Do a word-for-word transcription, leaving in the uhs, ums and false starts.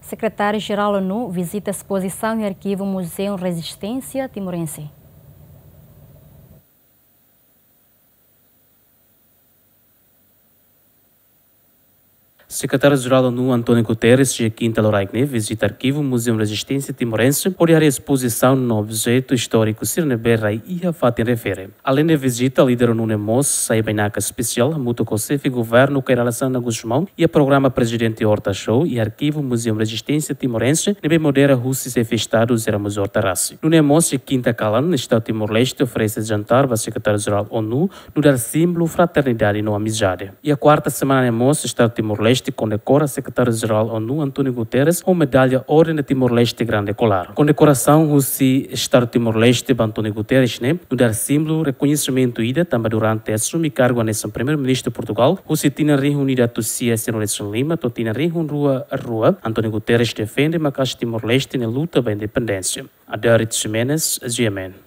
Sekretáriu-Jerál ONU vizita espozisaun iha arkivu Muzeu Rezisténsia Timorense. Sekretáriu-Jerál ONU António Guterres, iha kinta loraik ne'e, vizita arkivu Muzeu Rezisténsia Timorense, hodi haree espozisaun no objetu istóriku sira ne'ebé rai iha fatin refere. Aleinde vizita, líder ONU ne'e mós sai bainaka espesiál hamutuk ho xefe governu Kay Rala Xanana Gusmão iha programa Prezidente Horta Show iha arkivu Muzeu Rezisténsia Timorense ne'ebé modera husi xefe Estadu José Ramos Horta rasik. Nune'e mós iha kinta kalan, Estadu Timor-Leste oferese jantar ba Sekretáriu-Jerál ONU nu'udar símbolu fraternidade no amizade. Iha kuarta semana ne'e mós, Estadu Timor-Leste kondekora Sekretáriu-Jerál ONU António Guterres ho medalla Orden de Timor-Leste Grande Kolar. Kondekorasaun husi Estadu Timor-Leste ba António Guterres ne'e nu'udar símbolu rekoñesimentu ida, tanba durante asume kargu hanesan Primeiru-Ministru Portugál, husi tinan rihun ida atus sia sianulu-resin-lima to'o tinan rihun rua rua, António Guterres defende maka'as Timor-Leste nia luta ba independénsia. Adarit Ximenes, G M N.